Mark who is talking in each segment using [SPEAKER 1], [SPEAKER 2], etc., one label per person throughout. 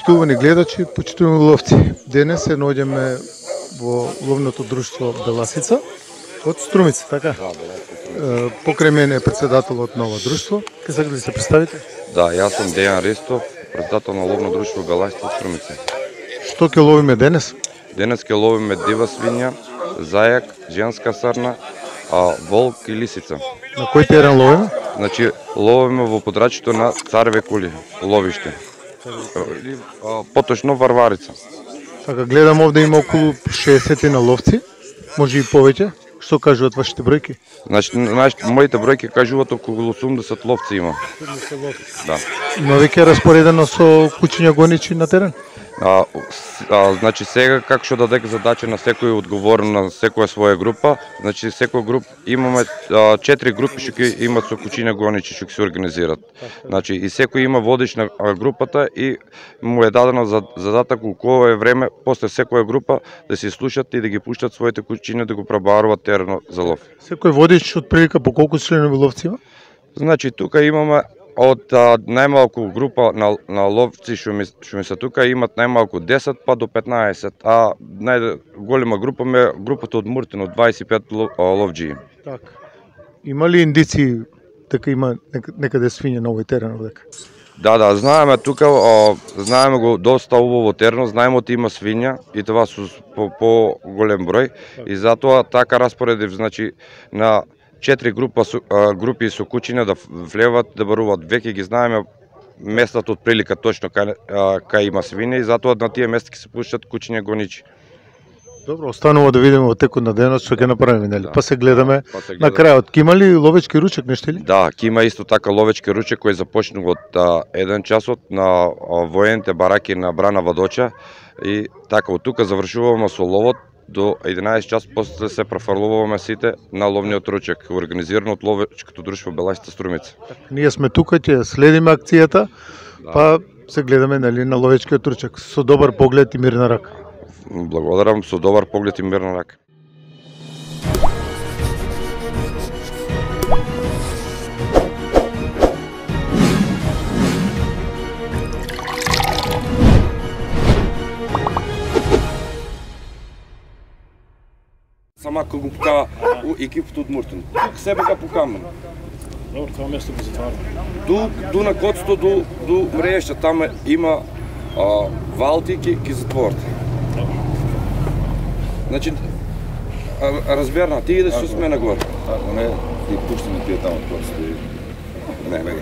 [SPEAKER 1] Почитувани гледачи, почитувани ловци. Денес се наоѓаме во ловното друштво Беласица од Струмица, така? Покрај мене е председателот на ова друштво. Ке сакате да се представите?
[SPEAKER 2] Да, јас сум Дејан Ристов, председател на ловно друштво Беласица од Струмица.
[SPEAKER 1] Што ќе ловиме денес?
[SPEAKER 2] Денес ќе ловиме дива свиња, зајак, женска срна, волк и лисица.
[SPEAKER 1] На кој терен ловиме?
[SPEAKER 2] Значи, ловиме во подрачјето на Цареве кули, ловиште. Поточно Варварица.
[SPEAKER 1] Така, гледам овде има околу 60 на ловци, може и повеќе. Што кажуваат вашите бројки?
[SPEAKER 2] Значи, моите бројки кажуваат околу 80 ловци има. Да.
[SPEAKER 1] Има веќе распоредено со кучиња гоничи на терен?
[SPEAKER 2] Значи сега како што дадек задача на секој одговорен на секоја своја група, значи секоја груп имаме 4 групи што ќе имат со кучиња гоничи што ќе се организираат. Значи и секој има водич на групата и му е дадено задаток у кое време после секоја група да се слушат и да ги пуштат своите кучиња да го пребаруваат терено за лов.
[SPEAKER 1] Секој водич од прилика по колку членови ловци има?
[SPEAKER 2] Значи тука имаме од најмалку група на ловци што ми се тука имат најмалку 10 па до 15, а најголема група ме групата од Муртин од 25 ловџии.
[SPEAKER 1] Така. Има ли индици дека има некаде свиња на овој терен овдека?
[SPEAKER 2] Да, знаеме тука, знаеме го доста убаво терено, знаеме да има свиња и тоа со по голем број и затоа така распоредив, значи на 4 групи со кучиња да влеват, да баруваат. Веќе ги знаеме местата од прилика точно кај има свиња и затоа на тие места ќе се пуштат кучиња гоничи.
[SPEAKER 1] Добро, останува да видиме во текот на денот што ќе направиме, нели? Да. Па се гледаме на крајот. Ке има ли ловечки ручек нешто ли?
[SPEAKER 2] Да, ќе има исто така ловечки ручек кој започнува од 1 часот на воените бараки на Брана Вадоча и така од тука завршуваме со ловот. До 11 час после се префрлуваме сите на ловниот ручек, организиран од ловечкото друштво Беласица Струмица.
[SPEAKER 1] Ние сме тука, ќе следиме акцијата, па се гледаме на ловечкиот ручек со добар поглед и мирна рака.
[SPEAKER 2] Благодарам, со добар поглед и мирна рака. Сама кога го покава екипата од Муртин. Тук себе га покаме.
[SPEAKER 3] Добро, тоа место го затвараме.
[SPEAKER 2] Ду на котсто, до мрежа, там има валти ки затворат. Значи, разберна, ти идеш с мене горе.
[SPEAKER 4] Ако не, ти пуштаме тие там од котсто. Не.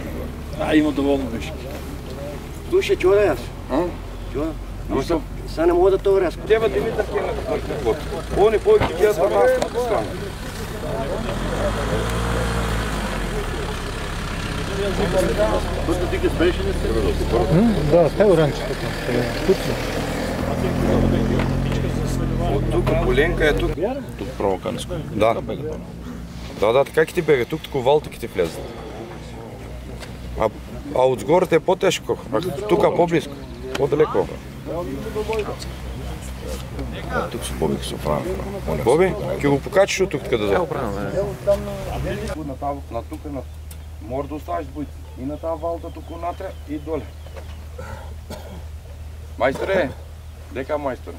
[SPEAKER 3] Има доволно беше.
[SPEAKER 5] Слушай, чува да јас? Чува? Са не мога да тоа резко.
[SPEAKER 2] Дева Димитар ке на кот. Они повеќе ќе јас на страна.
[SPEAKER 3] Просто ти ке беше не се.
[SPEAKER 1] Да, тај оранчето.
[SPEAKER 2] Тук Поленка е тук.
[SPEAKER 4] Тук провоканско.
[SPEAKER 2] Да. Да, така ќе ти бега, тук валти ќе ти влезе. А од згорите е потешко, тука поблиско, подалеко.
[SPEAKER 4] Тук се Боби се оправи.
[SPEAKER 2] Боби, ќе го покачиш од тук каде да. На тука мора да оставиш боите. И на таа валта туку натре и доле. Мајсторе, дека мајстор?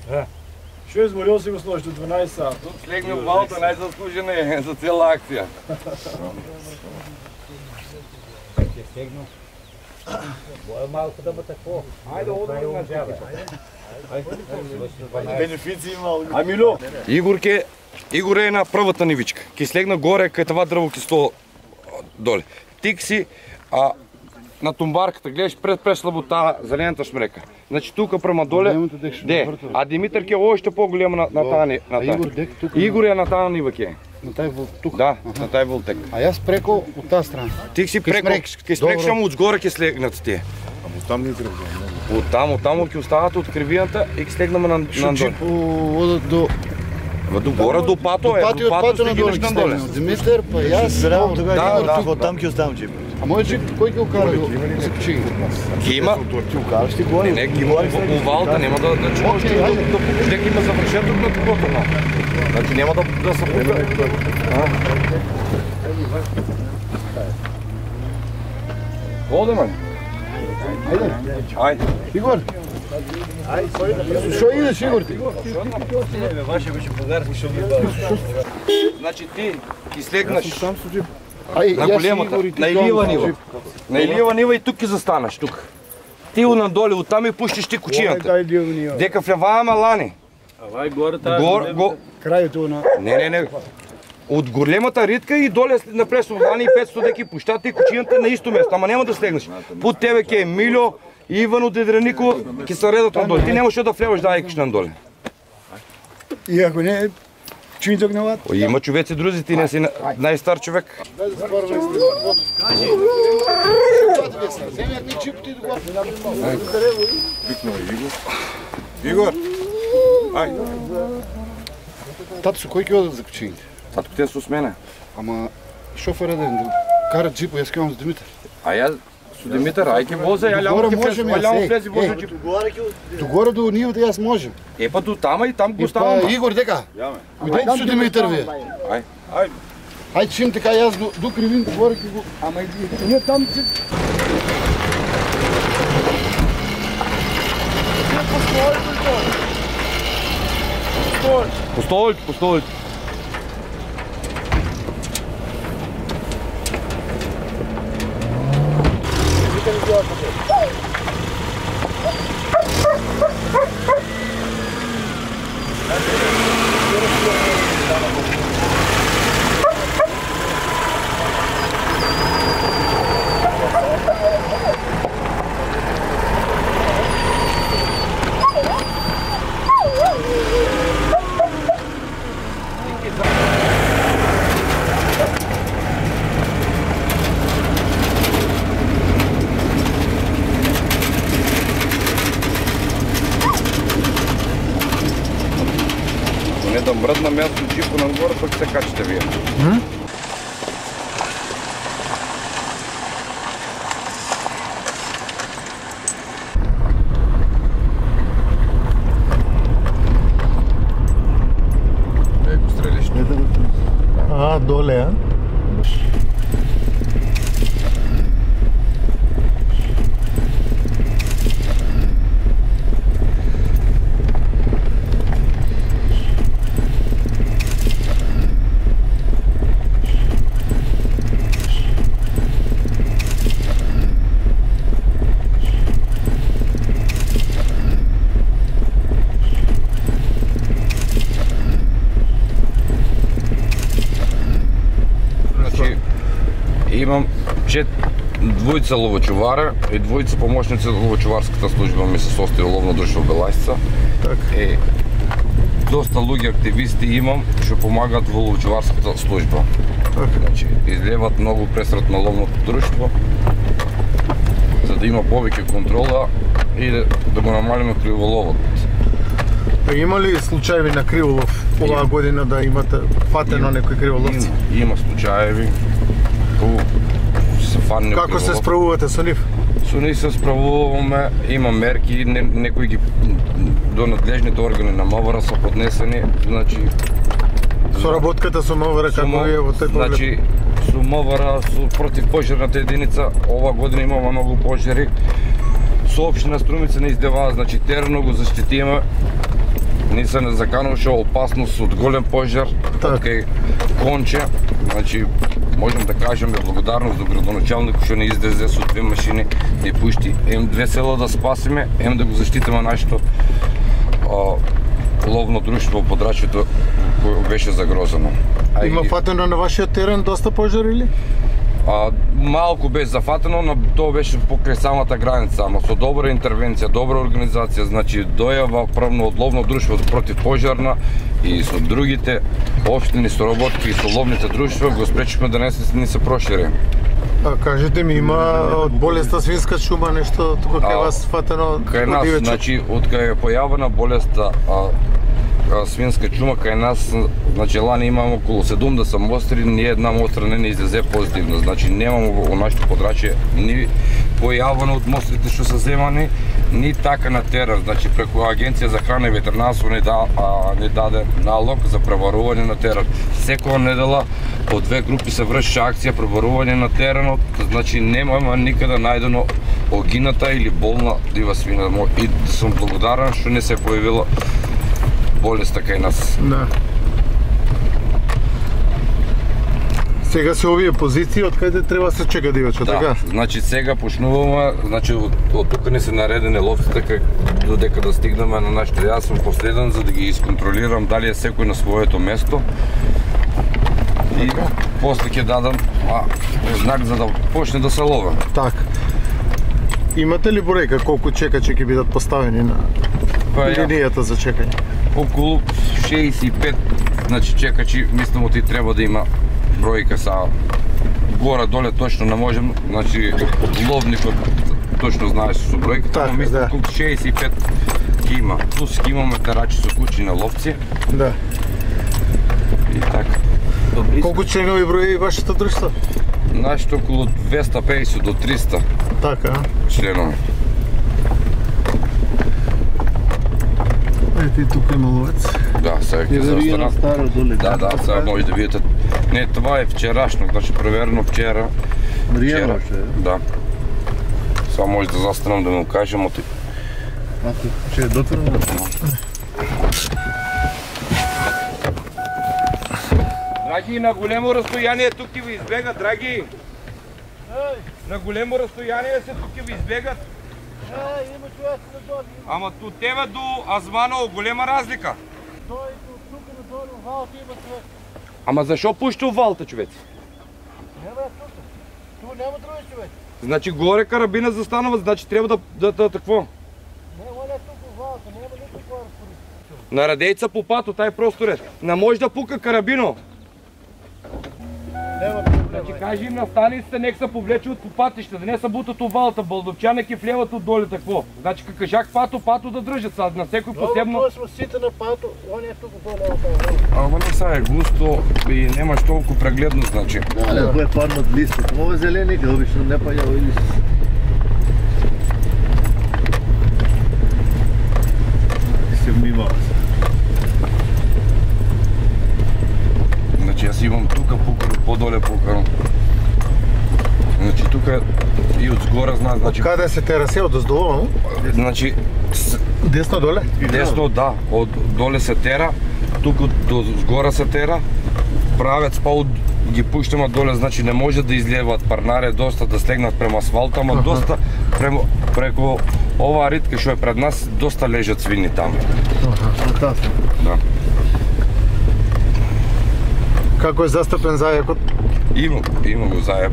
[SPEAKER 3] Што изморил си го сложи до 12 сат?
[SPEAKER 2] Тук слегне валта најзаслужена е за цела акција.
[SPEAKER 5] Малко да бъде какво? Айде, одвър
[SPEAKER 3] Бенефици имал. Амило!
[SPEAKER 2] Игор е на првата нивичка. Ке слегна горе, кај това дрво ке сто доле. Тик си на тумбарката, гледаш преслабо таа зелената шмрека. Значи тука према доле, а Димитар ке още по-голема на таа. Игор е на таа нива ке.
[SPEAKER 6] На тај вол тука?
[SPEAKER 2] Да, на тај волтек.
[SPEAKER 6] А јас преко од таа страна.
[SPEAKER 2] Ти си преко, ке спрекш само од згоре ке слегнат тие.
[SPEAKER 4] Ама там не треба.
[SPEAKER 2] Од таму ќе остават од кривијата и ке слегнаме на доле.
[SPEAKER 6] Шо одат до...
[SPEAKER 2] До горе, до пато е,
[SPEAKER 6] до пато на доле. Димитар, па јас...
[SPEAKER 2] Да,
[SPEAKER 4] Там ќе оставам джип.
[SPEAKER 6] А мој джип, кој ќе го кара до Закачиги?
[SPEAKER 2] Ке има?
[SPEAKER 4] Ти укараш ти горе.
[SPEAKER 2] Не, ке има увалта, нема да чуваш ти да пуште, ке има завршеток на такото. Значи нема да се пука. Оде, ман.
[SPEAKER 6] Ајде.
[SPEAKER 2] Ајде.
[SPEAKER 6] Игор, Што идеш, Игор, ти?
[SPEAKER 2] Значи ти ќе слегнеш
[SPEAKER 6] Ај,
[SPEAKER 2] на
[SPEAKER 6] јас
[SPEAKER 2] големата,
[SPEAKER 6] Игор и ти
[SPEAKER 2] на
[SPEAKER 6] дома.
[SPEAKER 2] илива нива. На илива нива и тук ќе застанеш, тук. Ти надоле, оттам и пуштиш ти кучијата. Дека влевааме лани.
[SPEAKER 3] Авај горе таа.
[SPEAKER 6] Крајот на...
[SPEAKER 2] Не. Од големата ритка и доле напред лани и 500 деки пуштат и кучијата на исто место, ама нема да слегнеш. Под тебе ќе е Милјо, Иван од Едреников, ќе се редат надоле. Ти немаш да влеваш да ајкаш надоле.
[SPEAKER 6] И ако не, чиниток на ват?
[SPEAKER 2] Има човеци друзи, ти не си најстар човек.
[SPEAKER 4] Игор! Ај!
[SPEAKER 6] Тато, со кој ќе одат за кучините?
[SPEAKER 2] Татко те со мене.
[SPEAKER 6] Ама шофера да карат джипо, јас ќе имам с Димитар.
[SPEAKER 2] А ја со Димитар, ај ќе возе, ја
[SPEAKER 6] Договора
[SPEAKER 2] љамо ќе
[SPEAKER 6] можеме,
[SPEAKER 2] влезе, љамо
[SPEAKER 6] јас,
[SPEAKER 2] влезе возе
[SPEAKER 6] е.
[SPEAKER 2] джип.
[SPEAKER 6] До горе до нивата јас можем.
[SPEAKER 2] Е па до тама и там го
[SPEAKER 6] И
[SPEAKER 2] ставам.
[SPEAKER 6] па Игор дека? Ујдете со Димитар вие.
[SPEAKER 2] Ај.
[SPEAKER 6] Ајде чим така јас до кривин горе ќе го... Ама и ние там ќе...
[SPEAKER 2] По столите. Не да мръдна място джипо нагоре, пък се качите вие. Ей го стрелиш.
[SPEAKER 1] А, доле, а?
[SPEAKER 2] Имам двојца ловочувара и двојца помошници од ловочуварската служба ми се состои ловно друштво Белајсца.
[SPEAKER 1] Така.
[SPEAKER 2] Доста луѓе активисти имам што помагаат во ловочуварската служба. Значи, излеват многу пресрат на ловното друштво за да има повеќе контрола и да го намалиме криволовот.
[SPEAKER 1] Има ли случаеви на криволов оваа година да имате фатено некои криволовци?
[SPEAKER 2] Има случаеви.
[SPEAKER 1] Како се справувате со нив?
[SPEAKER 2] Со нив се справуваме, има мерки, некои ги до надлежните органи на МВР се поднесени, значи
[SPEAKER 1] Соработката со МВР како е во тој поглед?
[SPEAKER 2] Значи, со МВР, со противпожарната единица, ова година имаме многу пожари. Со општина Струмица не издеваа, значи терено го заштитиме. Ни се не закануваше опасност од голем пожар, од кај Конче. Значи, можем да кажеме благодарност до градоначалникот што не излезе со 2 машини, не пушти М2 села да спасиме, да го заштитиме нашето ловно друштво по Подрачјето кој беше загрозено.
[SPEAKER 1] Има фатено на вашиот терен доста пожари или?
[SPEAKER 2] Малку беше зафатено, но тоа беше покрај самата граница, ама со добра интервенција, добра организација, значи дојава правно од ловно друштво против пожарна и со другите општини соработки и со ловните друштва го спречивме да не се прошири.
[SPEAKER 1] Кажете ми, има од болеста свинска чума нешто тука кај вас фатено?
[SPEAKER 2] Кај нас, значи, од кај е појавена болеста свинска чума, кај нас, значи, лани имаме околу 70 мостри, ни една мостра не излезе позитивно. Значи, немаме во нашето подрачје ни појавено од мострите што се земани, ни така на терен. Значи, преку Агенција за храна и ветеринарство не даде налог за пребарување на терен. Секоја недела по 2 групи се врши акција пребарување на теренот, значи немаме никаде најдено огината или болна дива свина. И сум благодарен што не се појавила болеста кај нас.
[SPEAKER 1] Да. Сега се овие позиции од каде треба се чека дивечка,
[SPEAKER 2] Да,
[SPEAKER 1] така?
[SPEAKER 2] значи сега почнуваме, значи од тука не се наредени ловците додека да стигнеме на нашите. Јас сум последен за да ги исконтролирам дали е секој на своето место. И после ќе дадам знак за да почне да се лове.
[SPEAKER 1] Така. Имате ли бројка колку чекачи ќе бидат поставени на линијата за чекање?
[SPEAKER 2] Околу 65, значи чекачи, мислам ти треба да има бројка са горе доле точно не можем, значи ловникот точно знаеш со бројката,
[SPEAKER 1] така,
[SPEAKER 2] но мислам
[SPEAKER 1] да.
[SPEAKER 2] колку 65 ќе има. Плюс ќе имаме терачи со кучи на ловци
[SPEAKER 1] Да.
[SPEAKER 2] и така.
[SPEAKER 1] Колку членови брои вашето друштво?
[SPEAKER 2] Нашето околу 250 до 300
[SPEAKER 1] Така.
[SPEAKER 2] членови.
[SPEAKER 1] Ете и тука има ловец.
[SPEAKER 2] Да, сега ќе застана.
[SPEAKER 6] Старо доле.
[SPEAKER 2] Да, сега може да видите. Не, това е вчерашно, значи проверено вчера.
[SPEAKER 6] Ријано ше.
[SPEAKER 2] Да. Сега може да застанам да му кажем оти.
[SPEAKER 6] Ако ќе е дотворено.
[SPEAKER 2] Драги, на големо разстояние тук ќе ви избегат, драги. На големо разстояние се тук ќе ви избегат.
[SPEAKER 3] Има човек на долу.
[SPEAKER 2] Ама от тебе до Азманово голема разлика.
[SPEAKER 3] Той тук на долу, валта има човек.
[SPEAKER 2] Ама защо пушто валта, човеци?
[SPEAKER 3] Не бе, тук. Тук няма други човек.
[SPEAKER 2] Значи горе карабина застанува, значи трябва да какво?
[SPEAKER 3] Не, оля тук валта, няма никаква разпоръчка.
[SPEAKER 2] На радейца по пато, taj prostor е. Не може да пука карабино.
[SPEAKER 3] Няма проблема.
[SPEAKER 2] Значи кажи им на станиците, нека се повлече от по патища, да не са бутат от валта, бълдовчана ке влеват от доле такво. Значи кажах пато да дръжат са, на всекой посебно.
[SPEAKER 3] Добре, сме сите на пато, он е тук долу.
[SPEAKER 2] Ама не са е густо и немаш толкова прегледно, значи.
[SPEAKER 6] Да, ако е паднат листът. Ова е зелени, обично не пајава и лист. Се внимава се.
[SPEAKER 2] Значи аз имам тука пукано, по-доле пукано. Значи тука и от сгора знаат, значи...
[SPEAKER 1] Каде се терасе од оздолу?
[SPEAKER 2] Значи...
[SPEAKER 1] Десно доле?
[SPEAKER 2] Десно, да, од доле се тера, тука до сгора се тера, правец па ги пуштаме доле, значи не може да излеват парнаре доста да слегнат према асфалта, ама доста преко оваа ритка што е пред нас, доста лежат свини таму.
[SPEAKER 6] Фантастично.
[SPEAKER 2] Да.
[SPEAKER 1] Како е застапен зајакот?
[SPEAKER 2] Има го зајак.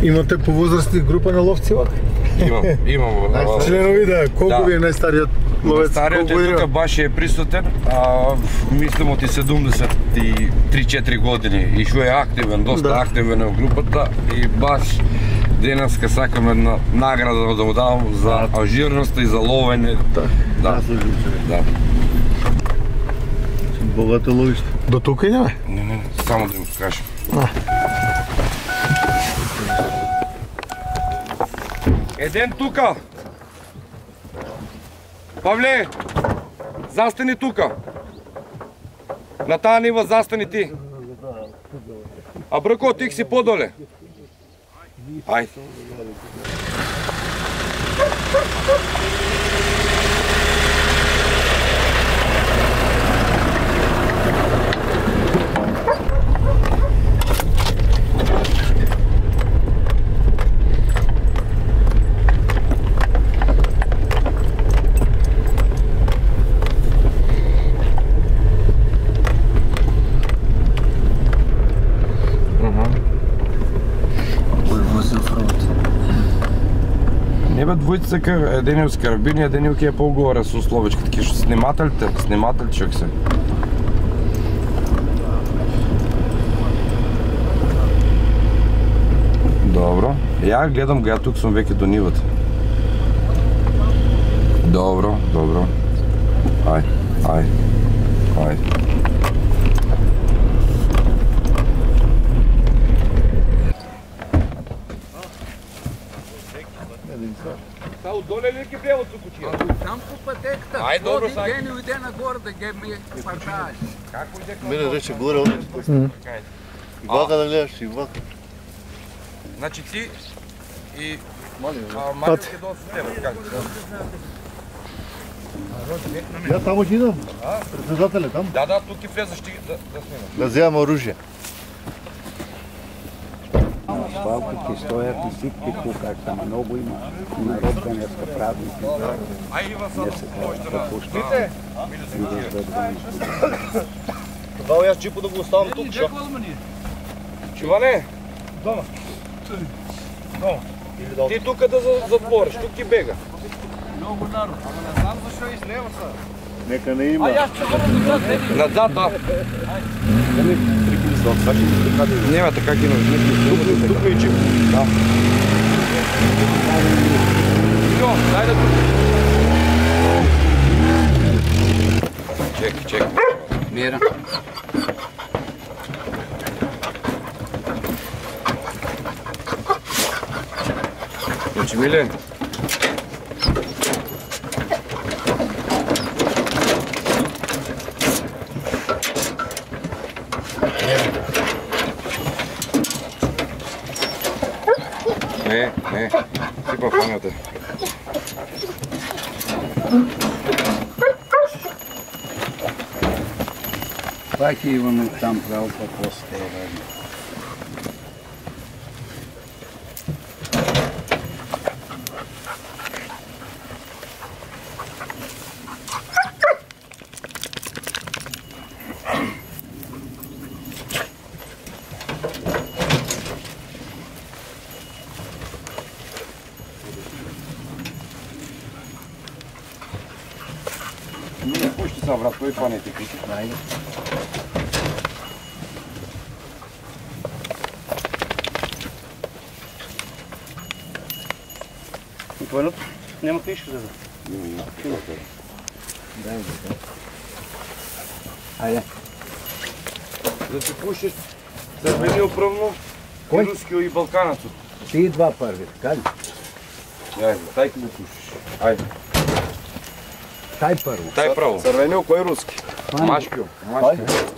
[SPEAKER 1] Имате по возрастни група на ловци вака?
[SPEAKER 2] Имам го.
[SPEAKER 1] Членови да, колку ви е најстариот ловец?
[SPEAKER 2] Стариот е тука баш е присутен, мислам од 73-4 години и што е активен, доста активен е во групата и баш денеска сакам една награда да му давам за ажирност и за ловење. Да. Да.
[SPEAKER 6] Богато ловиште.
[SPEAKER 1] До тука идеме?
[SPEAKER 2] Не, само да им покажам. Еден тука. Павле, застани тука. На таа нива застани ти. А Брко, ти си подоле. Ајде. Не бе, двојца еден е с карабини, еден е по-горе со словечка, таки што снимателите чак се. Добро. Ја гледам го, ја тук сум веќе до нивата. Добро. Ај. Са отдоле ли ги влеват со кучија?
[SPEAKER 7] Там по пътеката.
[SPEAKER 2] Ай, добро,
[SPEAKER 7] Ходи
[SPEAKER 2] Саки.
[SPEAKER 7] ден и иде нагоре да ги ми парташ.
[SPEAKER 6] Мене рече горе, оне. И вака да гледаш, и вака.
[SPEAKER 2] Значи ти и
[SPEAKER 6] Марио
[SPEAKER 2] ќе дојде со тебе, така?
[SPEAKER 6] Ја тамо ќе идам. Председателе там.
[SPEAKER 2] Да, тук ќе влезеш ти да снимаш.
[SPEAKER 6] Да земам оружје.
[SPEAKER 7] Свалките стојат и ситки тука, ама многу има народ денеска празници.
[SPEAKER 2] А и вас можете да
[SPEAKER 7] пуштите.
[SPEAKER 5] Тогава јас джипо да го оставам тук, шо?
[SPEAKER 2] Чуване? Дома. Ти тука да затвориш, тук ти бега.
[SPEAKER 6] Нека не има.
[SPEAKER 2] Назад, да. Нема така ги нужни. Тук е джип. Да. Йо, дай да тук. Чекай.
[SPEAKER 7] Мира.
[SPEAKER 2] Значи, Миле. Не, сипа фанята.
[SPEAKER 7] Пак имаме там право по стева.
[SPEAKER 2] Пушти се, брат, кој фанете кучи?
[SPEAKER 7] Ајде.
[SPEAKER 5] Твојното? Нема книжка за да.
[SPEAKER 7] Ајде.
[SPEAKER 2] Да ти пуштиш црвениот првно, и рускиот и балканецот.
[SPEAKER 7] Ти два први, така ли?
[SPEAKER 2] Ајде, тај ќе го пуштиш. Ајде.
[SPEAKER 7] Тај прво.
[SPEAKER 2] Тај право.
[SPEAKER 6] Црвениот кој руски?
[SPEAKER 2] Машкиот.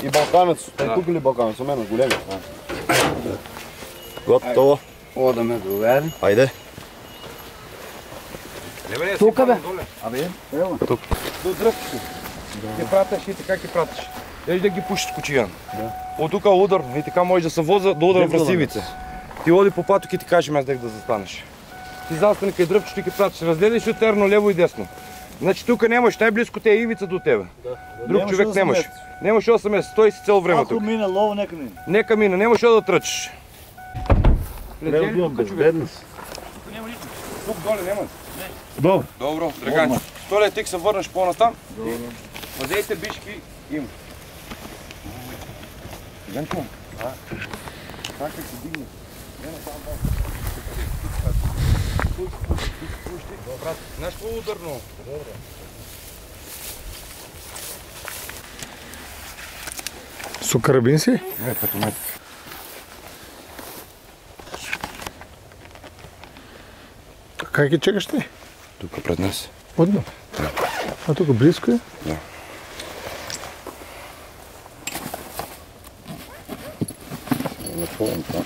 [SPEAKER 6] И балканец. Тај тук или балканец? Со мене големи. Готово.
[SPEAKER 7] Одаме другари.
[SPEAKER 6] Ајде.
[SPEAKER 7] Тука бе. Абе, ево.
[SPEAKER 2] До дръпки. Ќе пратиш и така ќе пратиш. Ели да ги пушиш кучијан. Од тука удар и така може да се воза до удар врз ивица. Ти оди по патот ќе ти кажем аз дека да застанеш. Ти застани кај дръпчето и ќе пратиш. Разделиш од терно лево и десно. Значи тука немаш, најблиско те е ивица до тебе. Друг човек немаш. Немаш 8 месеца, стои си цел време тука.
[SPEAKER 5] Ако мине лово, нека мине.
[SPEAKER 2] Нека мине, немаш да трчиш.
[SPEAKER 6] Безбедност.
[SPEAKER 2] Тук доле нема.
[SPEAKER 6] Добро.
[SPEAKER 2] Добро, Драганчо. Столе, ти се върнеш по-натам. Вазейте бишки има. Драганчо, как се дигне? Знаеш какво е ударно? Добре.
[SPEAKER 1] Со карабин си?
[SPEAKER 2] Не, патомет.
[SPEAKER 1] Кај ќе чекаш ти?
[SPEAKER 2] Тук пред нас.
[SPEAKER 1] Одно? А тука близко е?
[SPEAKER 2] Да.
[SPEAKER 6] Не помнам това.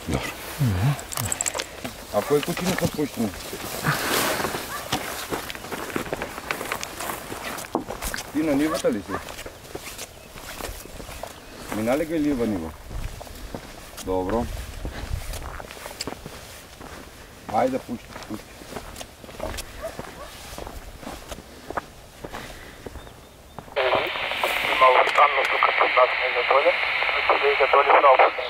[SPEAKER 2] Добро. А кој кучи не подпуштено? Ти на нивата ли си? Минале га лива нива? Добро. Ајде, пушти.
[SPEAKER 3] Malo странно тук под нас не задоле, да иде доле в работа.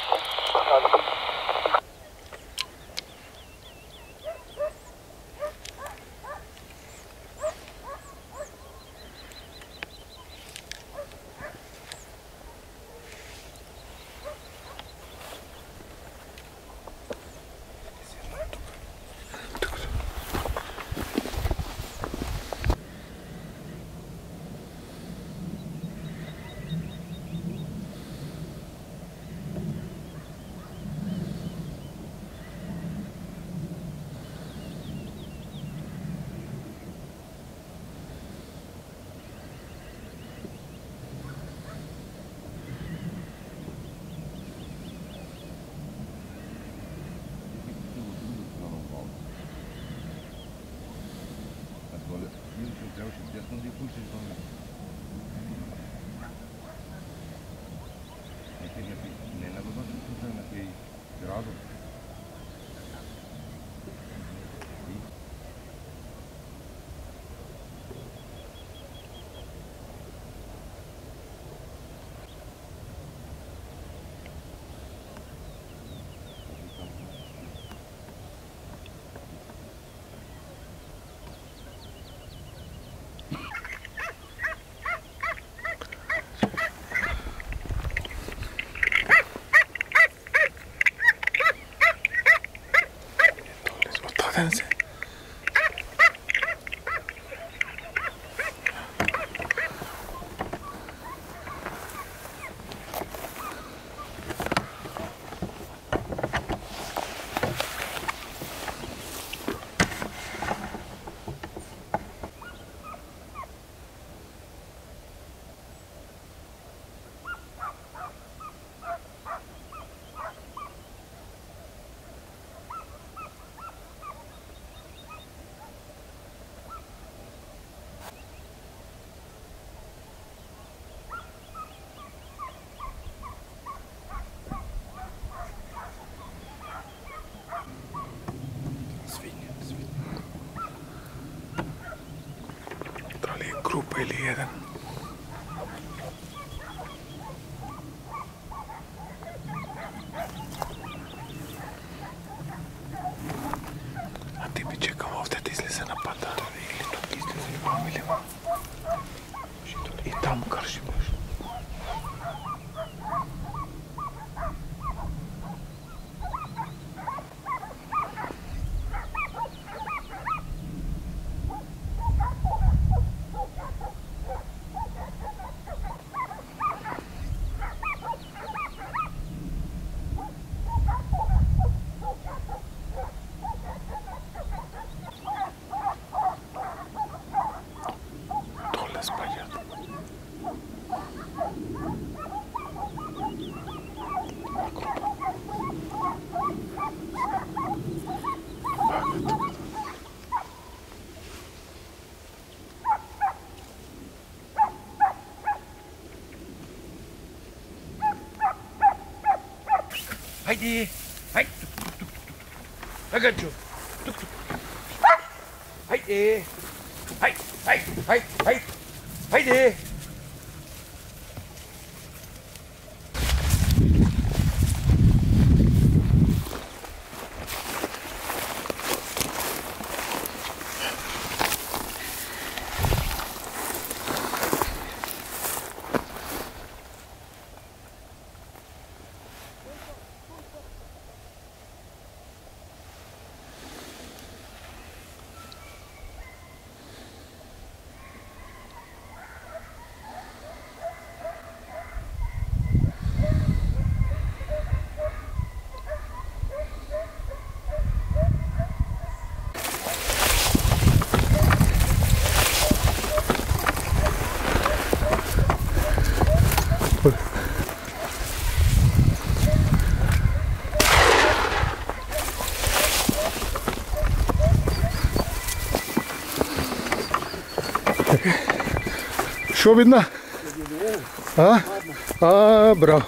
[SPEAKER 1] Група или еден. А ти би чекал овде да излезе на пата. Или тук излезе и вам или вам. И там крши баш.
[SPEAKER 5] Haydi. Haydi. Agacho. Haydi. Haydi. Haydi. Haydi. Haydi.
[SPEAKER 1] Що видно? Браво.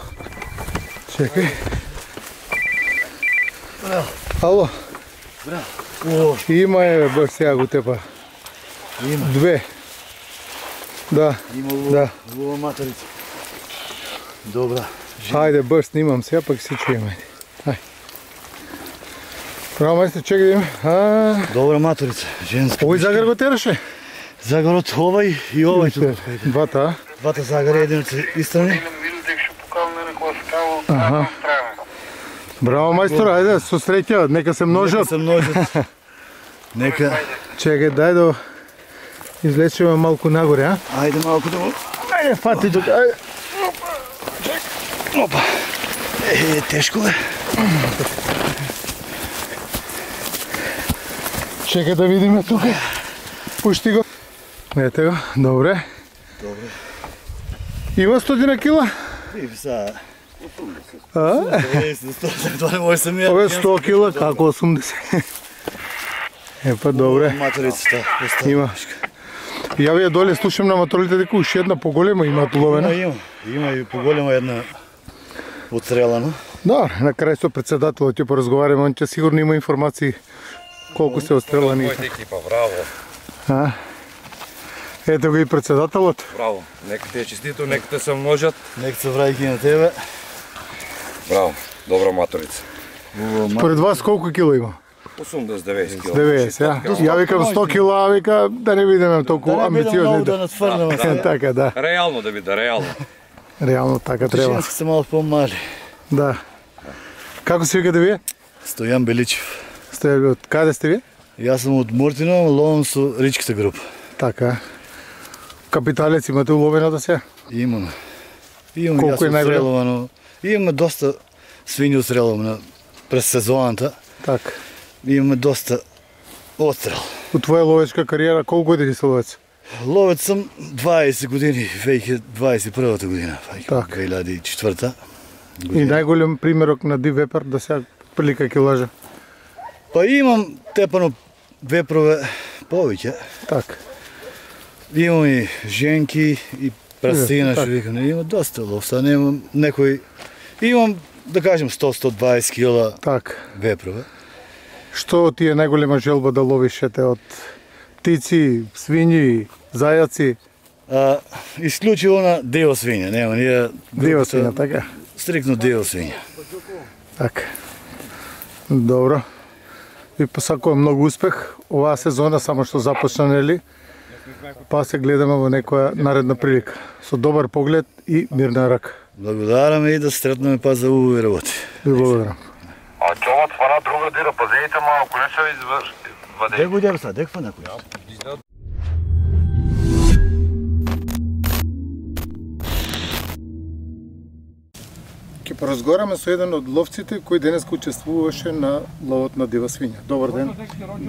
[SPEAKER 1] Чекай. Ало.
[SPEAKER 6] Браво.
[SPEAKER 1] Има баш сега го тепа.
[SPEAKER 6] Има.
[SPEAKER 1] Две. Да.
[SPEAKER 6] Има лова материца. Добра.
[SPEAKER 1] Хайде, баш снимам сега, пък се чуем. Хайде. Право, майстор, чекай да има.
[SPEAKER 6] Добра материца, женска.
[SPEAKER 1] Овој загар го тераше?
[SPEAKER 6] Загарот овај и овај тука.
[SPEAKER 1] Двата,
[SPEAKER 6] Двата загари, един од истрани.
[SPEAKER 1] Аха. Браво, мајстор, ајде, со среќа, нека се множат.
[SPEAKER 6] Нека се множат. Нека.
[SPEAKER 1] Чекай, дај да излечеме малку нагоре, а?
[SPEAKER 6] Ајде малку да му.
[SPEAKER 1] Ајде, фати тука, ајде.
[SPEAKER 6] Опа. Тешко е.
[SPEAKER 1] Чекай да видиме тука. Пушти го. Ете го, добре.
[SPEAKER 6] Добре.
[SPEAKER 1] Има 100 кила?
[SPEAKER 6] И са.
[SPEAKER 1] А?
[SPEAKER 6] 100, това не може самия.
[SPEAKER 1] Ове 100 кила, како 80? Епа, добре.
[SPEAKER 6] Материцата.
[SPEAKER 1] Има. Ја вие доле слушам на моторите дека уште една поголема имаат ловена.
[SPEAKER 6] Има и поголема една отстрелана.
[SPEAKER 1] Да, на крај со председателот ќе поразговараме, он ќе сигурно има информации колку се отстрелани.
[SPEAKER 2] Мојата екипа, браво.
[SPEAKER 1] Ето го и председателот.
[SPEAKER 2] Браво. Нека ти е честито, нека те се множат.
[SPEAKER 6] Нека се враќа на тебе.
[SPEAKER 2] Браво. Добра маторица.
[SPEAKER 1] Според вас колку кило има?
[SPEAKER 2] 80-90 кг.
[SPEAKER 1] 90, ја викам 100 кила, вика да не бидеме толку амбициозни.
[SPEAKER 6] Да надфрлеме се.
[SPEAKER 1] Така, да.
[SPEAKER 2] Реално да биде, реално.
[SPEAKER 1] Реално така треба.
[SPEAKER 6] Женски се малку помали.
[SPEAKER 1] Да. Како се викате вие?
[SPEAKER 6] Стојан Беличев.
[SPEAKER 1] Сте од каде сте вие?
[SPEAKER 6] Јас сум од Муртино, ловам со ричката група.
[SPEAKER 1] Така. Капиталец имате уловено да се?
[SPEAKER 6] Имаме. Имаме
[SPEAKER 1] Колку е
[SPEAKER 6] јас
[SPEAKER 1] најголем?
[SPEAKER 6] отстрелувано. Имаме доста свињи отстрелувано през сезоната.
[SPEAKER 1] Така.
[SPEAKER 6] Имаме доста отстрел.
[SPEAKER 1] У твоја ловечка кариера колку години си ловец?
[SPEAKER 6] Ловец сум 20 години, 2021 година,
[SPEAKER 1] Така.
[SPEAKER 6] 2004.
[SPEAKER 1] И најголем примерок на див вепер да се прилика килажа.
[SPEAKER 6] Па имам тепано вепрове повеќе.
[SPEAKER 1] Така.
[SPEAKER 6] Имам и женки и прастина, што викам, има доста лов, са немам некој. Имам, да кажем, 100-120 кила
[SPEAKER 1] Така.
[SPEAKER 6] вепрове.
[SPEAKER 1] Што ти е најголема желба да ловиш ете од птици, свињи, зајаци,
[SPEAKER 6] Исклучиво на дел свиња, нема ние
[SPEAKER 1] диво свиња, така?
[SPEAKER 6] стрикно дел свиња.
[SPEAKER 1] Така. Добро. Ви посакувам многу успех. Оваа сезона само што започна, нели? Па се гледаме во некоја наредна прилика. Со добар поглед и мирна рака.
[SPEAKER 6] Благодараме и да се сретнеме па за убави работи.
[SPEAKER 1] Ви благодарам.
[SPEAKER 3] А човат фана друга дира, пазеите малко, не се извади.
[SPEAKER 6] Де го дем са, деква некој.
[SPEAKER 1] Ќе поразговараме со еден од ловците кој денес учествуваше на ловот на дива свиња. Добар ден.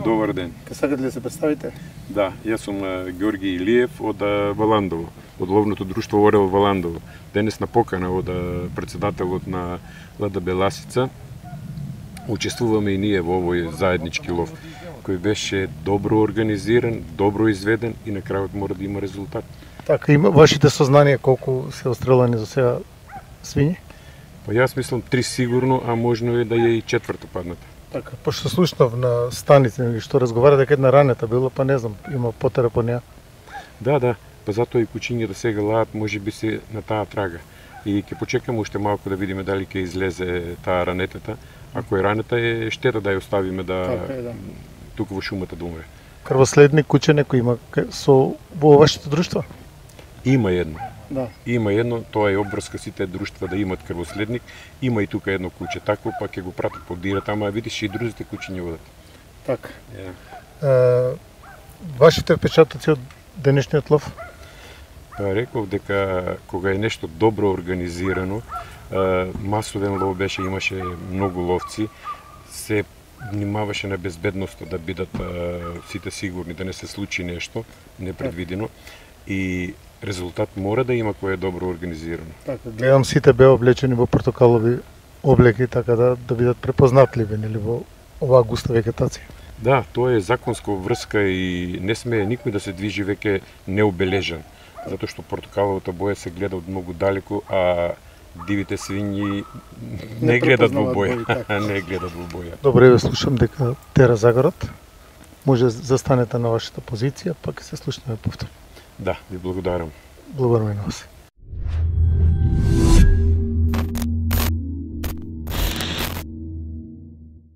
[SPEAKER 8] Добар ден.
[SPEAKER 1] Ке сакате ли да се представите?
[SPEAKER 8] Да, јас сум Георги Илиев од Валандово, од ловното друштво Орел Валандово. Денес на покана од председателот на ЛДБ Ласица учествуваме и ние во овој заеднички лов, кој беше добро организиран, добро изведен и на крајот мора да има резултат.
[SPEAKER 1] Така, има вашите сознанија колку се отстрелани за сега свињи?
[SPEAKER 8] Па јас мислам 3 сигурно, а можно е да е и 4-та падната.
[SPEAKER 1] Така, пошто слушнав на станица или што разговара дека една ранета била, па не знам, има потера по неа.
[SPEAKER 8] Да, па затоа и кучињата сега лаат, може би се на таа трага. И ќе почекаме уште малку да видиме дали ќе излезе таа ранетата. Ако е ранета е штета да ја оставиме да,
[SPEAKER 1] Така е, да.
[SPEAKER 8] тука во шумата да умре.
[SPEAKER 1] Крвоследник куче некој има со во вашето друштво?
[SPEAKER 8] Има едно.
[SPEAKER 1] Да.
[SPEAKER 8] Има едно, тоа е обврска сите друштва да имат крвоследник. Има и тука едно куче такво, па ќе го пратат по дирата, ама видиш и другите кучи не одат.
[SPEAKER 1] Така. Вашите впечатоци од денешниот лов?
[SPEAKER 8] Па реков дека кога е нешто добро организирано, масовен лов беше, имаше многу ловци, се внимаваше на безбедноста да бидат сите сигурни, да не се случи нешто непредвидено и резултат мора да има кој е добро организирано.
[SPEAKER 1] Така, гледам сите беа облечени во портокалови облеки, така да бидат препознатливи нели во оваа густа вегетација.
[SPEAKER 8] Да, тоа е законска врска и не смее никој да се движи веќе необележан, затоа што портокаловата боја се гледа од многу далеку, а дивите свињи не гледат во боја, не гледат во боја.
[SPEAKER 1] Добре, ве слушам дека тера загорот. Може застанете на вашата позиција, па ќе се слушнеме повторно.
[SPEAKER 8] Да, ви благодарам.
[SPEAKER 1] Благодарам и на вас.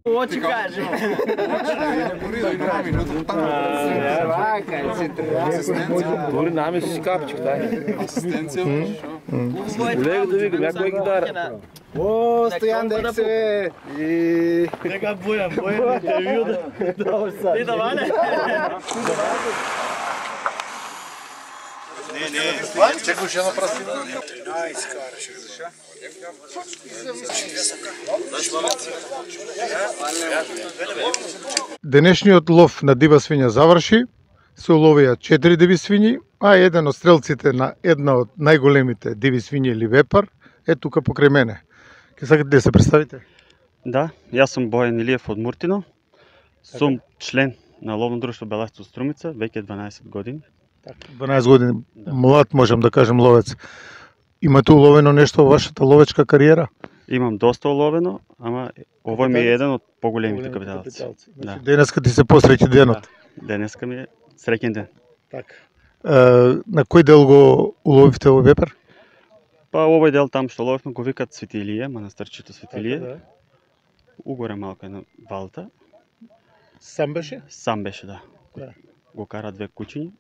[SPEAKER 9] Очи каже. Дори нами си капчик, дай. Асистенција. Лего да викам, ја кој ги дара. О, Стојан дек се.
[SPEAKER 6] Нека бојам интервју да.
[SPEAKER 9] И да ване.
[SPEAKER 6] Чекаш една прастина.
[SPEAKER 1] Денешниот лов на дива свиња заврши. Се уловија 4 диви свињи, а еден од стрелците на една од најголемите диви свињи или вепар е тука покрај мене. Ке сакате да се представите?
[SPEAKER 10] Да, јас сум Бојан Илиев од Муртино. Сум член на ловно друштво Беласица Струмица, веќе 12 години.
[SPEAKER 1] 12 години, млад можам да кажем ловец. Имате уловено нешто во вашата ловечка кариера?
[SPEAKER 10] Имам доста уловено, ама овој ми е еден од поголемите капиталци.
[SPEAKER 1] Значи, денеска ти се посреќи денот.
[SPEAKER 10] Денеска ми е среќен ден.
[SPEAKER 1] Така. На кој дел го уловивте овој вепер?
[SPEAKER 10] Па овој дел там што ловевме го викат Свети Илија, манастирчето Свети Илија. Угоре малку една валта.
[SPEAKER 1] Сам беше?
[SPEAKER 10] Сам беше, да. Го кара две кучиња.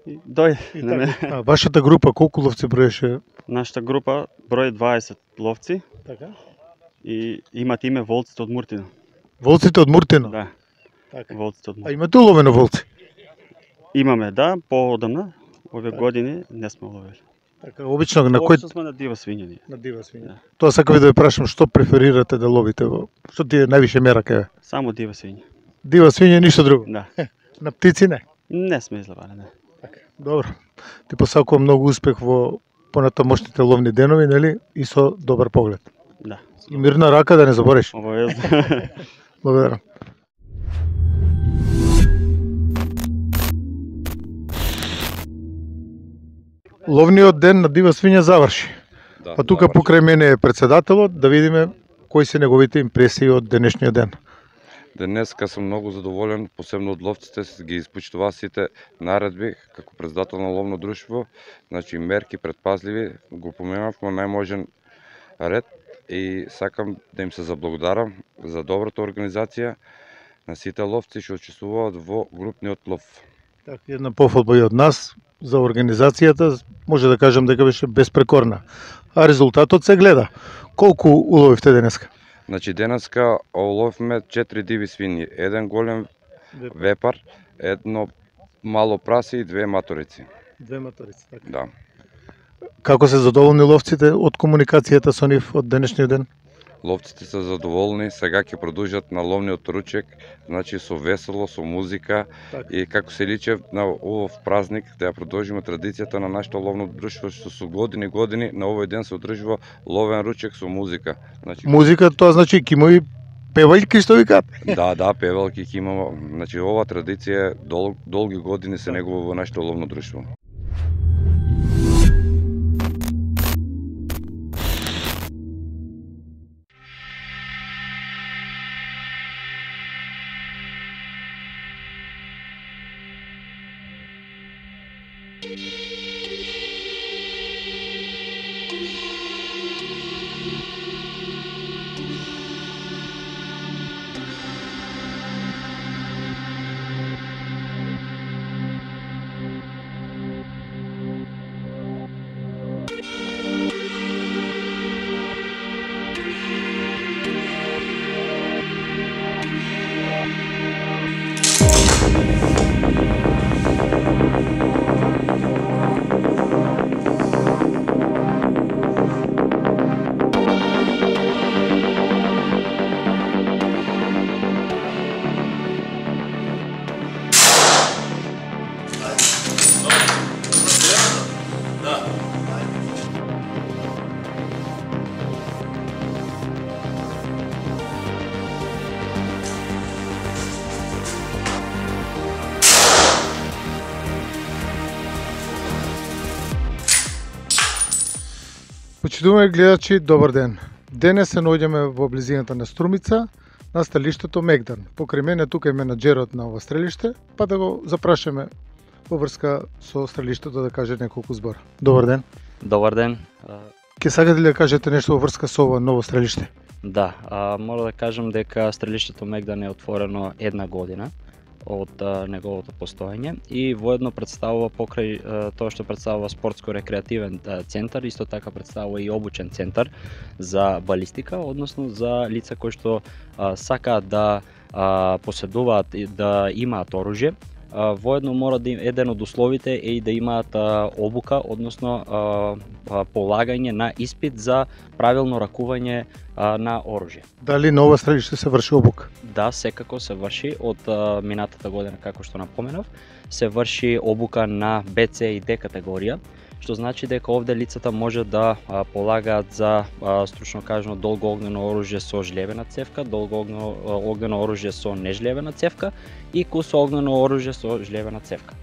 [SPEAKER 10] И дојде на мене.
[SPEAKER 1] Вашата група колку ловци броеше?
[SPEAKER 10] Нашата група брои 20 ловци.
[SPEAKER 1] Така.
[SPEAKER 10] И имат име волците од Муртино.
[SPEAKER 1] Волците од Муртино?
[SPEAKER 10] Да.
[SPEAKER 1] Така.
[SPEAKER 10] Волците од Муртино.
[SPEAKER 1] А имате уловено волци?
[SPEAKER 10] Имаме, да, поодамна. Овие години не сме ловели.
[SPEAKER 1] Така, обично на кој?
[SPEAKER 10] Обично сме на дива свиња ние.
[SPEAKER 1] На дива свиња. Тоа сакав да ве прашам, што преферирате да ловите во? Што ти е највише мера кај?
[SPEAKER 10] Само дива свиња.
[SPEAKER 1] Дива свиња и ништо друго?
[SPEAKER 10] Да.
[SPEAKER 1] На птици не?
[SPEAKER 10] Не сме изловали, не.
[SPEAKER 1] Така. Добро. Ти посакувам многу успех во понатамошните ловни денови, нели? И со добар поглед.
[SPEAKER 10] Да.
[SPEAKER 1] И мирна рака да не забориш.
[SPEAKER 10] Обавезно.
[SPEAKER 1] Благодарам. Ловниот ден на дива свиња заврши.
[SPEAKER 2] Да,
[SPEAKER 1] А тука покрај мене е председателот, да видиме кои се неговите импресии од денешниот ден.
[SPEAKER 2] Денеска сум многу задоволен, посебно од ловците, ги испочитуваа сите наредби како председател на ловно друштво, значи мерки предпазливи, го поменав во најможен ред и сакам да им се заблагодарам за добрата организација на сите ловци што учествуваат во групниот лов.
[SPEAKER 1] Така, една пофалба и од нас за организацијата, може да кажам дека беше безпрекорна. А резултатот се гледа. Колку уловивте денеска?
[SPEAKER 2] Значи денеска уловивме 4 диви свињи, еден голем вепар, едно мало прасе и 2 маторици.
[SPEAKER 1] 2 маторици, така.
[SPEAKER 2] Да.
[SPEAKER 1] Како се задоволни ловците од комуникацијата со нив од денешниот ден?
[SPEAKER 2] Ловците се задоволни, сега ќе продолжат на ловниот ручек, значи со весело, со музика и како се личи на овој празник да ја продолжиме традицијата на нашето ловно друштво што со години на овој ден се одржува ловен ручек со музика. Значи
[SPEAKER 1] музика тоа значи ќе има и певалки што викаат.
[SPEAKER 2] Да, певалки ќе има. Значи оваа традиција долги години се негува во нашето ловно друштво.
[SPEAKER 1] Почитувани гледачи, добар ден. Денес се наоѓаме во близината на Струмица, на стрелиштето Мегдан. Покрај мене тука е менаџерот на ова стрелиште, па да го запрашаме во врска со стрелиштето да каже неколку збора. Добар ден.
[SPEAKER 11] Добар ден.
[SPEAKER 1] Ке сакате ли да кажете нешто во врска со ова ново стрелиште?
[SPEAKER 11] Да, мора да кажам дека стрелиштето Мегдан е отворено една година од неговото постоење и воедно представува покрај тоа што представува спортско-рекреативен центар, исто така представува и обучен центар за балистика, односно за лица кои што сакаат да поседуваат и да имаат оружје. Воедно мора да еден од условите е и да имаат обука, односно полагање на испит за правилно ракување на оружје.
[SPEAKER 1] Дали на ова стрелиште се врши обука?
[SPEAKER 11] Да, секако се врши од минатата година, како што напоменав, се врши обука на БЦ и Д категорија, што значи дека овде лицата може да полагаат за стручно кажано долго огнено оружје со жлевена цевка, долго огнено оружје со нежлевена цевка и кусо огнено оружје со жлевена цевка.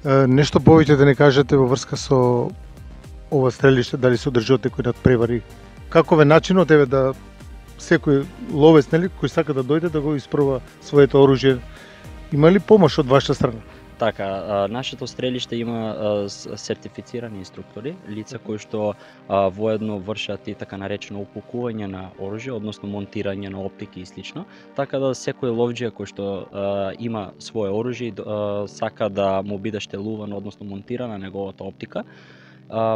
[SPEAKER 1] Нешто повеќе да не кажете во врска со ова стрелиште, дали се одржуват некои надпревари? Каков е начинот еве да секој ловец, нели, кој сака да дојде да го испроба своето оружје? Има ли помош од ваша страна?
[SPEAKER 11] Така, нашето стрелиште има сертифицирани инструктори, лица кои што воедно вршат и така наречено упакување на оружје, односно монтирање на оптики и слично, така да секој ловџија кој што има свое оружје и сака да му биде штелувано, односно монтирана неговата оптика,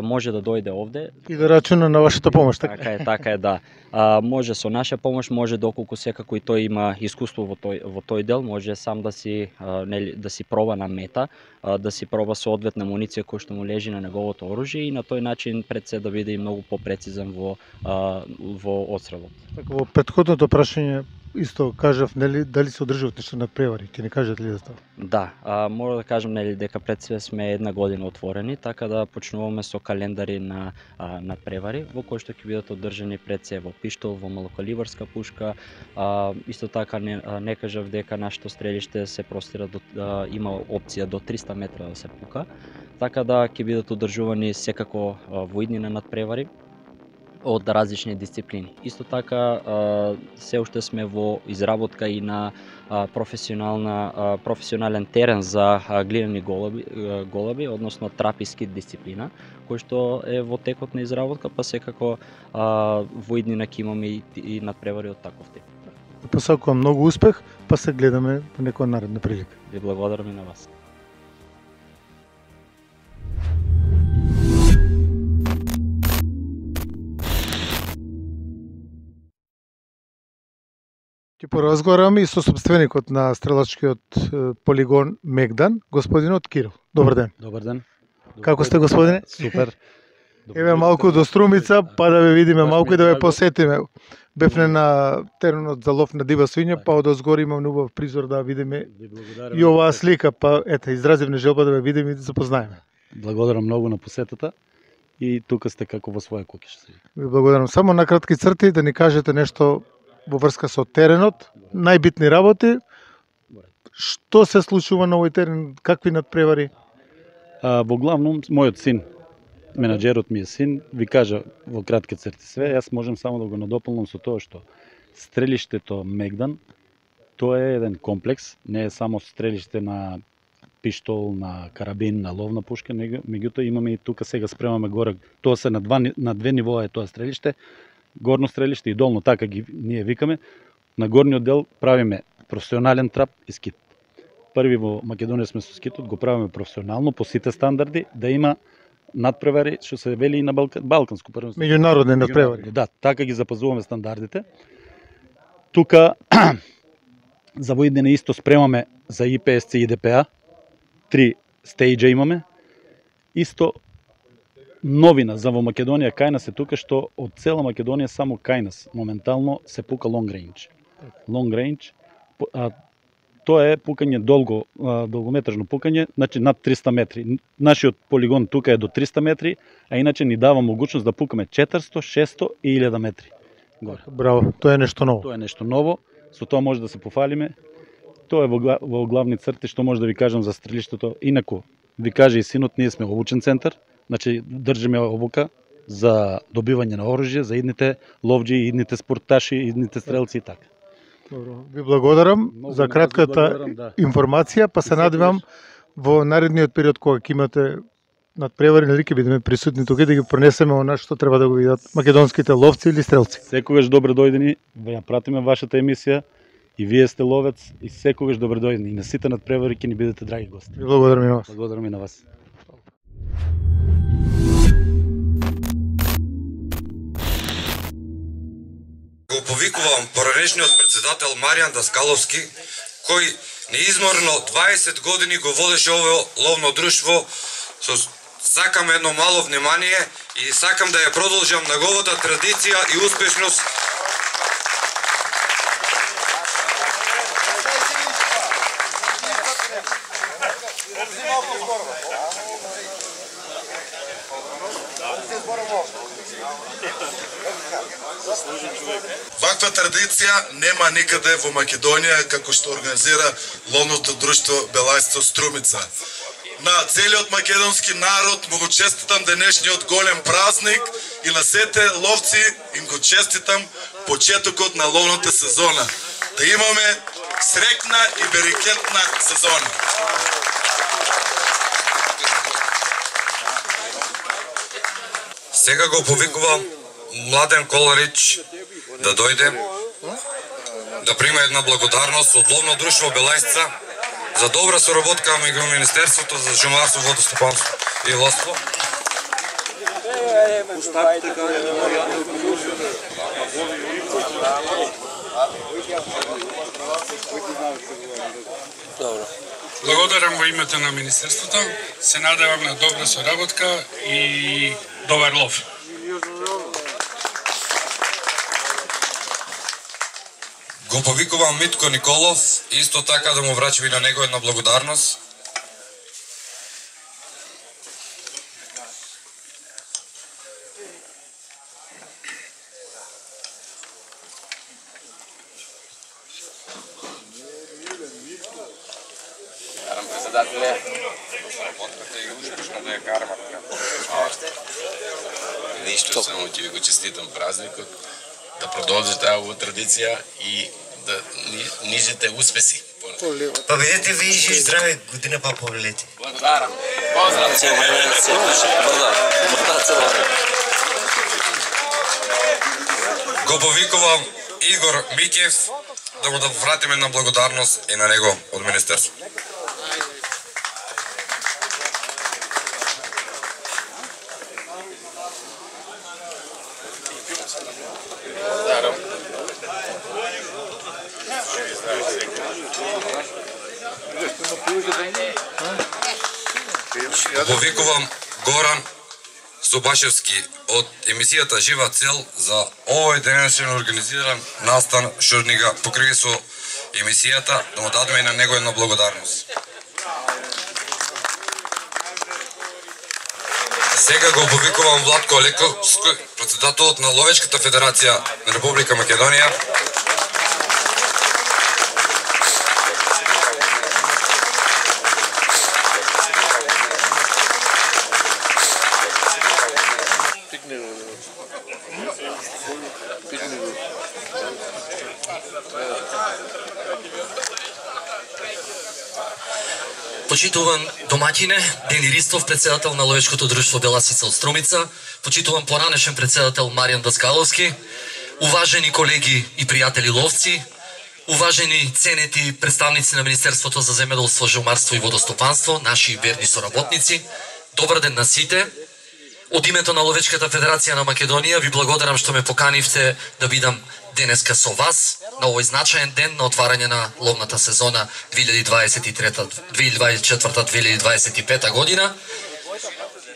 [SPEAKER 11] може да дојде овде
[SPEAKER 1] и да рачуна на вашата помош, така?
[SPEAKER 11] Така е, да. Може со наша помош, може доколку секако и тој има искуство во тој дел, може сам да си проба на мета, да си проба соодветна муниција која што му лежи на неговото оружје и на тој начин пред се да биде и многу попрецизен во одстрелот.
[SPEAKER 1] Така, во претходното прашање исто кажав, нели, дали се одржуват нешто надпревари, ќе не кажете ли за тоа?
[SPEAKER 11] Да, мора да кажам, нели, дека пред све сме една година отворени, така да почнуваме со календари на надпревари, во кои што ќе бидат одржани пред се во пиштол, во малокалибарска пушка. Исто така не кажав дека нашето стрелиште се простира има опција до 300 метра да се пука, така да ќе бидат одржувани секако во иднина надпревари од различни дисциплини. Исто така се уште сме во изработка и на професионален терен за глинени голуби, односно трап и скит дисциплина, кој што е во текот на изработка, па секако во иднина ќе имаме и надпревари од таков тип.
[SPEAKER 1] Посакувам многу успех, па се гледаме во некоја наредна прилика.
[SPEAKER 11] Ви благодарам и на вас.
[SPEAKER 1] Ќе поразговараме и со собственикот на стрелачкиот полигон Мегдан, господинот Кирил. Добар ден.
[SPEAKER 12] Добар ден.
[SPEAKER 1] Како сте, господине?
[SPEAKER 12] Супер.
[SPEAKER 1] Еве малку до Струмица, па да ве видиме малку и да ве посетиме. Бевне на теренот за лов на дива свиња, па од озгори имам убав призор да видиме и оваа слика, па ете, изразивме желба да ве видиме и да запознаеме.
[SPEAKER 12] Благодарам многу на посетата и тука сте како во своја куќа.
[SPEAKER 1] Ви благодарам. Само на кратки црти да ни кажете нешто во врска со теренот, најбитни работи, што се случува на овој терен, какви надпревари?
[SPEAKER 12] Во главном, мојот син, менаџерот ми е син, ви кажа во кратки црти све, јас можам само да го надополнам со тоа што стрелиштето Мегдан, тоа е еден комплекс, не е само стрелиште на пиштол, на карабин, на ловна пушка, меѓутоа имаме и тука сега спремаме горе, тоа се на две нивоа е тоа стрелиште, горно стрелиште и долно, така ги ние викаме. На горниот дел правиме професионален трап и скит. Први во Македонија сме со скитот, го правиме професионално по сите стандарди, да има надпревари, што се вели и на балканско првенство.
[SPEAKER 1] Меѓународни надпревари.
[SPEAKER 12] Да, така ги запазуваме стандардите. Тука за воиднина исто спремаме за IPSC и ДПА. 3 стејџа имаме. Исто новина за во Македонија кај нас е тука што од цела Македонија само кај нас моментално се пука long range. Long range, тоа е пукање долгометражно пукање, значи над 300 метри. Нашиот полигон тука е до 300 метри, а иначе ни дава могуćност да пукаме 400, 600 и 1000 метри. Горе.
[SPEAKER 1] Браво, тоа е нешто ново.
[SPEAKER 12] Тоа е нешто ново, со тоа може да се пофалиме. Тоа е во главни црти што може да ви кажам за стрелиштето. Инаку, ви каже и синот, ние сме обучен центар. Значи, држиме обука за добивање на оружје, за идните ловџи, идните спорташи, идните стрелци и така.
[SPEAKER 1] Добро, ви благодарам за кратката информација, па се надевам во наредниот период кога ќе имате надпревари, нели ќе бидеме присутни тука да ги пренесеме она што треба да го видат македонските ловци или стрелци.
[SPEAKER 12] Секогаш добро дојдени, ја пратиме вашата емисија и вие сте ловец и секогаш добро дојдени. И на сите надпревари ќе ни бидете драги гости.
[SPEAKER 1] Ви благодарам и на вас.
[SPEAKER 12] Благодарам и на вас.
[SPEAKER 13] Го повикувам поранешниот председател Маријан Даскаловски, кој неизморно 20 години го водеше ово ловно друштво. Сакам едно мало внимание и сакам да ја продолжам неговата традиција и успешност.
[SPEAKER 14] Ваква традиција нема никаде во Македонија како што организира ловното друштво Белајсто Струмица. на целиот македонски народ му го честитам денешниот голем празник и на сите ловци им го честитам почетокот на ловната сезона. Да имаме среќна и берекетна сезона.
[SPEAKER 13] Сега го повикувам Младен Коларич да дојде да прима една благодарност од Ловно друштво Белајсца за добра соработка меѓу Министерството за шумарство, водостопанство и ловство.
[SPEAKER 15] Благодарам во името на Министерството. Се надевам на добра соработка и добар лов.
[SPEAKER 13] Го повикувам Митко Николов, исто така да му врачим и на него една благодарност.
[SPEAKER 16] Председателе, работката и успешно да ја караме. Ништо, само ќе ви го честитам празникот, да продолжите оваа традиција и да нижите успеси.
[SPEAKER 17] Па бидете ви живи здрави, година па повелете.
[SPEAKER 16] Благодарам. Поздрав.
[SPEAKER 13] Го повикувам Игор Микев да му да вратиме една благодарност и на него од Министерството. Повикувам Горан Собашевски од емисијата Жива цел за овој денешен организиран настан Шурнига покрај со емисијата, да му дадеме и на него една благодарност. Сега го повикувам Владко Лековски, председателот на Ловечката федерација на Република Македонија.
[SPEAKER 18] Почитуван домаќине, Дени Ристов, председател на Ловечкото друштво Беласица од Струмица, почитуван поранешен председател Маријан Даскаловски, уважени колеги и пријатели ловци, уважени ценети представници на Министерството за земјоделство, шумарство и водостопанство, наши верни соработници, добар ден на сите. Од името на Ловечката федерација на Македонија ви благодарам што ме поканивте да бидам денеска со вас на овој значаен ден на отварање на ловната сезона 2024-2025 година.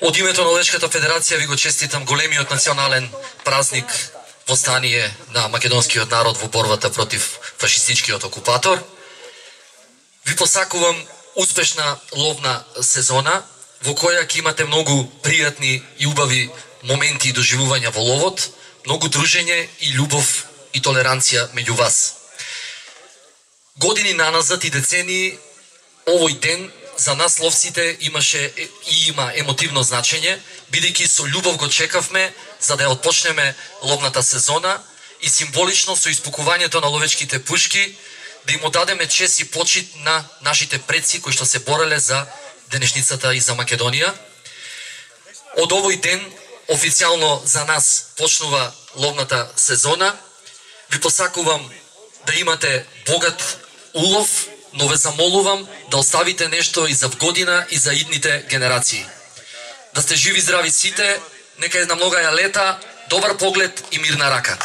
[SPEAKER 18] Од името на Ловечката федерација ви го честитам големиот национален празник восстание на македонскиот народ во борбата против фашистичкиот окупатор. Ви посакувам успешна ловна сезона во која ќе имате многу пријатни и убави моменти и доживувања во ловот, многу дружење и љубов и толеранција меѓу вас. Години наназад и децении овој ден за нас ловците имаше и има емотивно значење, бидејќи со љубов го чекавме за да ја отпочнеме ловната сезона и символично со испукувањето на ловечките пушки да им одадеме чест и почит на нашите предци кои што се бореле за денешницата и за Македонија. Од овој ден официјално за нас почнува ловната сезона. Ви посакувам да имате богат улов, но ве замолувам да оставите нешто и за година и за идните генерации. Да сте живи здрави сите, нека една многаја лета, добар поглед и мирна рака.